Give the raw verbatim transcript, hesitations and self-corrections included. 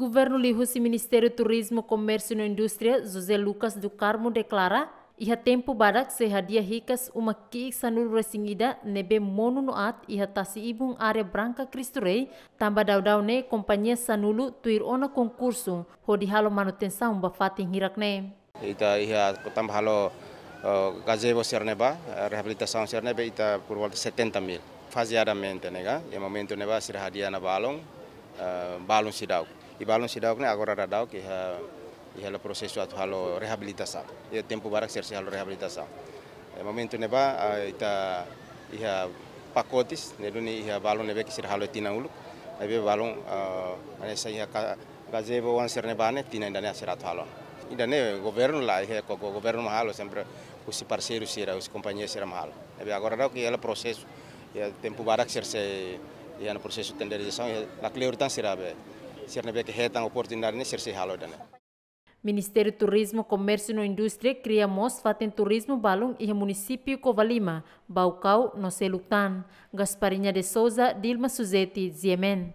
Governu liuhusi Ministériu Turizmu, Komérsiu no Indústria, José Lucas do Carmo, deklara, iha tempu badak sei hadi'a hikas uma ki'ik sanulu-resin-ida ne'ebé monu no aat iha tasi-ibun área Branca Cristo Rei, tanba daudaun ne'e kompañia sanulu tuir ona konkursu hodi halo manutensaun ba fatin hirak ne'e. Ita iha tanba halo, eh, gazebo sira-ne'ebá, eh, reabilitasaun sira-ne'ebé ita por volta setenta mil. Fazeadamente, ne'e ka, iha momentu ne'ebá sira hadi'a ona balun, eh, balun seidauk. I balun seidauk ne'e agora daudaun iha, iha hela prosesu atu halo reabilitasaun. Iha tempu badak sira sei halo reabilitasaun. Iha momentu ne'ebá, ah, ita iha pakotes, ne'e duni iha balun ne'ebé ke sira halo tinan uluk. Ne'ebé balun, ah, hanesan iha ka-, gazebo oan sira-ne'ebá ne'e tinan ida-ne'e sira atu halo. Ida-ne'e governu la, iha ko, ko governu mak halo, sempre husi parseiru sira, husi kompañia sira mak halo. Ne'ebé agora daudaun iha hela prosesu, iha tempu badak sira sei, iha ona prosesu tenderizasaun, iha lakleur tan sira be, sira-ne'ebé ke hetan oportunidade ne'e sira sei halo ida-ne'e. Ministériu Turizmu, Komérsiu no Indústria kria mós fatin turizmu balun iha munisípiu Covalima, Baucau no seluk tan. Gasparinha de Souza, Dilma Suzeti, G M N.